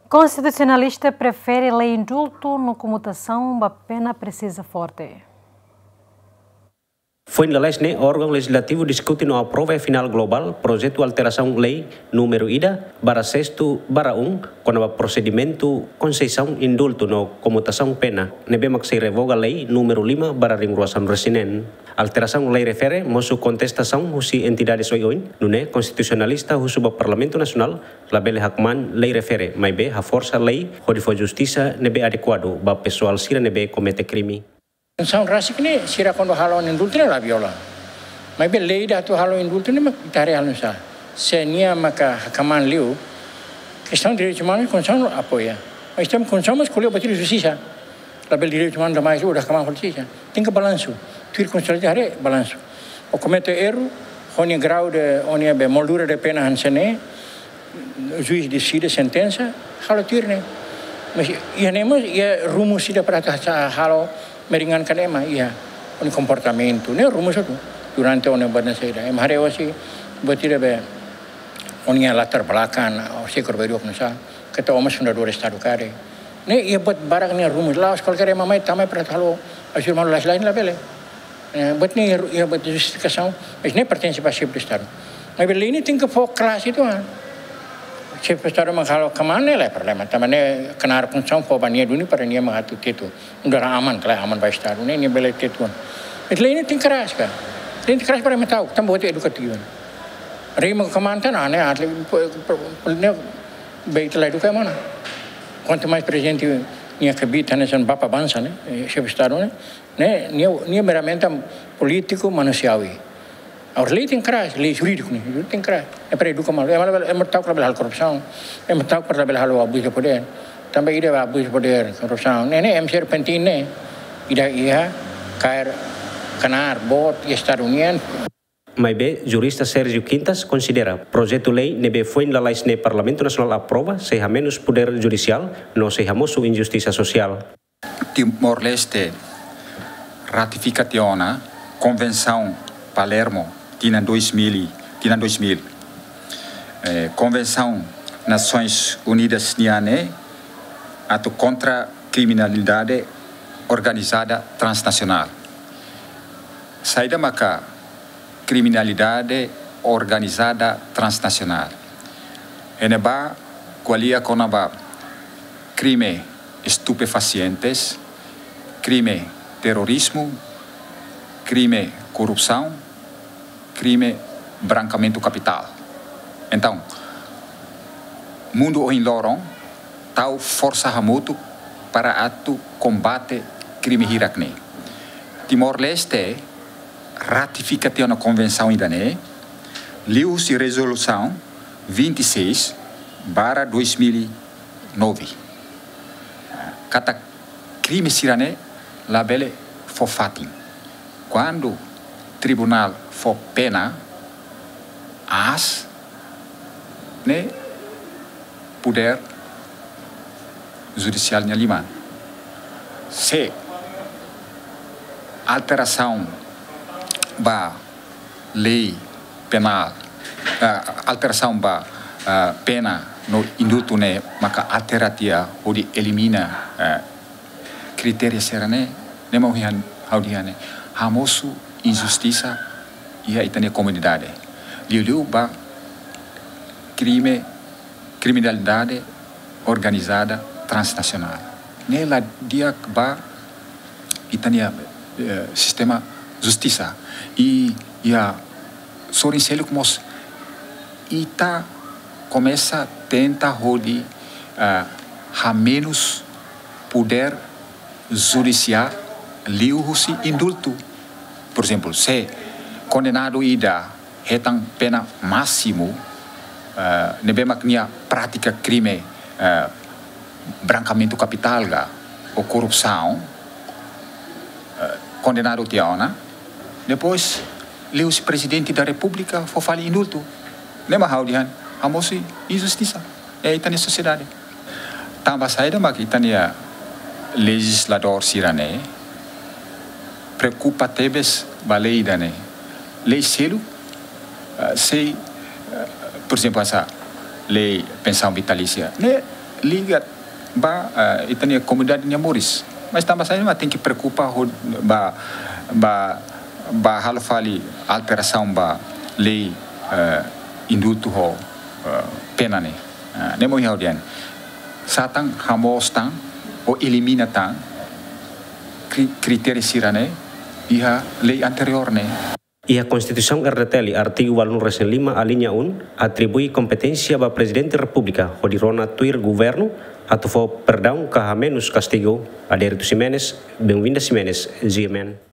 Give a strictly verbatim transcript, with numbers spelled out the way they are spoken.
Konstitusionalista prefere lei indultu no komutasaun ba pena presiza forte. Foin lalais ne'e, órgaun lejizlativu diskute no aprova iha final globál projetu alterasaun lei númeru ida barra sestu barra um, kona-ba prosedimentu konsesaun indultu no komutasaun pena, ne'ebé mak sei revoga lei númeru lima barra ringrua sanulu-resin-neen. Alterasaun lei refere mosu kontestasaun husi entidades oioin, nune'e konstitusionalista husu ba Parlamentu Nasionál labele hakmaan lei refere, maibé haforsa lei hodi fó justisa ne'ebé adekuadu ba pesoál sira ne'ebé komete krime. Konstituisaun rasik ne'e, sira kuandu halo indultu ne'e la viola. Maibé lei ida atu halo indultu ne'e mak ita haree halo nu'usá. Se nia maka hakmaan liu, kestaun direitus umanus, konstituisaun apoia. Mas tem konstituisaun mós ko'alia buat ida justisa. Labele direitus umanus demais, udah hakmaan justisa. Tenke balansu. Tuir konstituisaun haree balansu. Ó komete erru, ó-nia grau de, ó-nia be moldura de pena hanesan ne'e, juís deside sentensa, halo tuir ne'e. Mas iha ne'e mós iha rumus ida para atu halo meringankan ema iha ó-nia komportamentu, ne'e rumus atu durante ó-nia badan saida. Ema haree hosi buat ida be ó-nia latar belakang, ó sei kor-ba iha dua komunisasi, keta ó mós fundadór Estadu karik. Ne'e iha buat barak nia rumus, la'ós kualkér ema mai tama para atu halo, ajuda malu lais-lais ne'e labele. Eh, buat ne'e iha, iha buat justifikasaun, mas ne'e pertense ba xefe de Estadu. Maibé lei ne'e tenke fó klaru uitoan. Xefe de Estadu mak halo hakmaan ne'e la iha problema. Tanba ne'e knaar konstituisaun fó ba nia duni para nia mak atu tetu. Nu'udar aman, klaru, aman ba Estadu ne'e, nia bele tetu. Mas lei ne'e tenke keras ka. Lei ne'e tenke keras para ema ta'uk, tanba buat edukativu. Rei mak hakmaan tiha ona, ne'e, atli, ne'e, be ita la eduka ema ona. Kuantu mais prezidente nia kbiit hanesan bapa bansa ne'e, eh, xefe de Estadu ne'e, ne'e, nia, nia meramente polítiku manusiawi. Agora lei tenke keras, lei jurídiku ne'e, tenke keras. Ne'e para eduka malu. Ema labele, ema ta'uk labele halo korrupsaun. Ema ta'uk para labele halo abuzu de podér. Tanba ida ba abuzu de podér, korrupsaun. Ne'e, ne'e M C R penting ne'e. Ida iha kaer knaar boot iha Estadu nian. Maibé, jurista Sérgio Quintas konsidera projetu lei ne'ebé foin lalais ne'e Parlamentu Nasionál aprova sei hamenus podér judisiál no sei hamosu injustisa sosiál. Timor-Leste ratifika tiha ona Konvensaun Palermo tinan dois mil, tinan dois mil. Eh, Konvensaun Nasoins Unidas nian ne'e atu kontra kriminalidade organizada transnasionál. Saida maka kriminalidade organizada transnasionál? Iha ne'ebá ko'alia kona-ba krime estupefacientes, krime terrorizmu, krime korrupsaun, krime brankeamentu kapitál. Entaun, mundu ohin loron tau forsa hamutuk para atu kombate krime hirak-ne'e. Timor-Leste ratifika tiha ona konvensaun ida-ne'e, liuhusi rezolusaun vinte e seis barra dois mil e nove. Katak krime sira-ne'e labele fó fatin. Kuandu tribunál fó pena aas, ne'e podér judisiál nia liman. Se alterasaun ba lei penál, eh, alterasaun ba, eh, pena no indultu ne'e maka altera tiha hodi elimina, eh, kritéria sira-ne'e, ne'e mak ohin ha'u dehan ne'e hamosu injustisa iha ita-nia komunidade. Liuliu ba krime, kriminalidade organizada transnasionál. Ne'e la di'ak ba ita-nia, eh, sistema justisa. I, iha sorin seluk mós ita komesa tenta hodi, eh, hamenus podér judisiál liuhusi indultu. Porezemplu, se kondenadu ida hetan pena másimu, eh, ne'ebé mak nia pratika krime, eh, brankeamentu kapitál ka, ou korrupsaun, eh, kondenadu tiha ona, depois liuhusi Prezidente da Repúblika fó fali indultu. Ne'e mak ha'u dehan hamosu injustisa iha ita-nia sosiedade. Tanba saida mak ita-nia lejizladór sira-ne'e preokupa tebes ba lei ida-ne'e? Lei seluk, eh, sei, eh, porezemplu, hanesan lei pensaun vitalísia ne'e, liga ba, eh, ita-nia komunidade nia moris. Mas tanba sá mak tenke preokupa ho ba, ba, ba halo fali alterasaun ba lei, eh, indultu ho, eh, pena ne'e. Ah, ne'e mak ha'u dehan. Sá tan hamoos tan ou elimina tan kri-, kritéria sira-ne'e iha lei anteriór ne'e. Iha Konstituisaun R D T L, artigu ualunulu-resin-lima, alínea um, atribui kompeténsia ba Prezidente Repúblika hodi rona tuir governu atu fó perdaun ka hamenus kastigu a Derito Ximenes, Benvinda Ximenes, G M N.